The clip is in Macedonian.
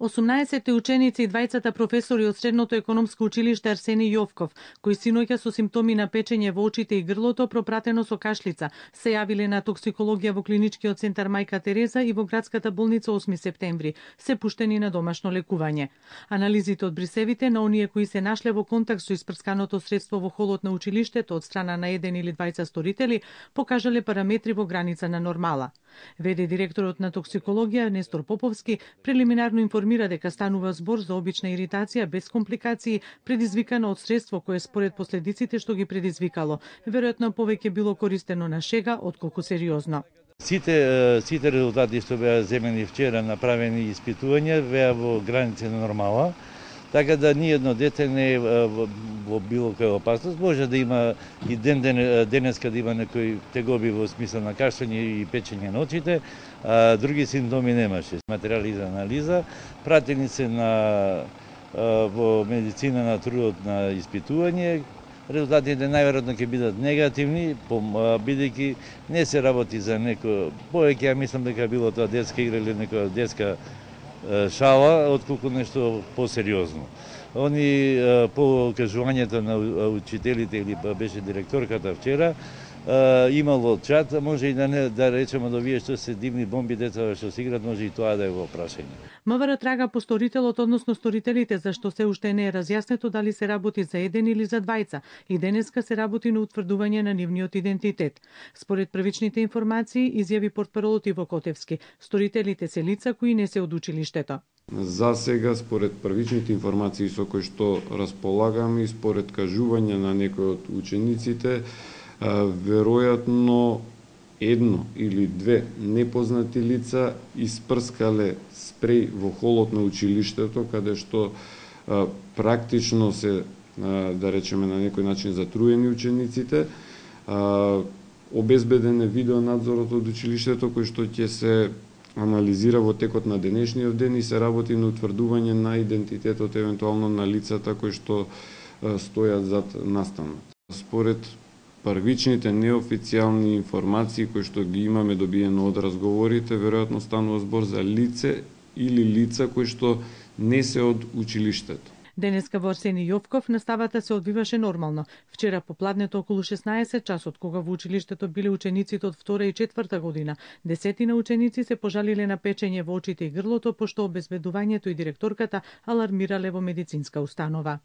18 ученици и двајцата професори од Средното економско училиште Арсени Јовков, кои синоќа со симптоми на печење во очите и грлото пропратено со кашлица, се јавиле на токсикологија во клиничкиот центар Мајка Тереза и во градската болница 8 септември, се пуштени на домашно лекување. Анализите од брисевите на оние кои се нашле во контакт со испрсканото средство во холот на училиштето од страна на еден или двајца сторители покажале параметри во граница на нормала. Веде директорот на токсикологија Нестор Поповски прелиминарно информира дека станува збор за обична иритација без компликации, предизвикана од средство кое според последиците што ги предизвикало, веројатно повеќе било користено на шега отколку сериозно. Сите резултати што беа земени вчера, направени испитувања, беа во граници на нормала, така да ниедно дете не е во било која опасност. Може да има и денеска да има некои тегоби во смисла на кашлење и печење на очите, а други симптоми немаше. Материјали за анализа пратени се во медицина на трудот на испитување. Резултатите најверојатно ќе бидат негативни, бидејќи не се работи за некој повеќе, ја мислам дека било тоа детска игра или некоја детска шала, отколку нешто посериозно. Они по кажувањето на учителите или беше директорката вчера, имало чат, може и да речеме да вие што се дивни бомби деца што се играт, може и тоа да е во прашање. МВР трага по сторителот, односно сторителите, зашто се уште не е разјаснето дали се работи за еден или за двајца, и денеска се работи на утврдување на нивниот идентитет. Според првичните информации, изјави портпаролот Иво Котевски, сторителите се лица кои не се од училиштето. За сега, според првичните информации со кои што располагаме и според кажување на некои од учениците, веројатно едно или две непознати лица испрскале спреј во холот на училиштето, каде што практично се, да речеме, на некој начин затруени учениците. Обезбеден е видеонадзорот од училиштето, кој што ќе се анализира во текот на денешниот ден и се работи на утврдување на идентитетот евентуално на лицата кои што стојат зад настанот. Според првичните неофицијални информации кои што ги имаме добиено од разговорите, веројатно станува збор за лице или лица кои што не се од училиштето. Денеска во Арсени Јовков наставата се одвиваше нормално. Вчера попладнето околу 16 часот, кога во училиштето биле учениците од 2 и 4 година, десетина ученици се пожалиле на печење во очите и грлото, пошто обезбедувањето и директорката алармирале во медицинска установа.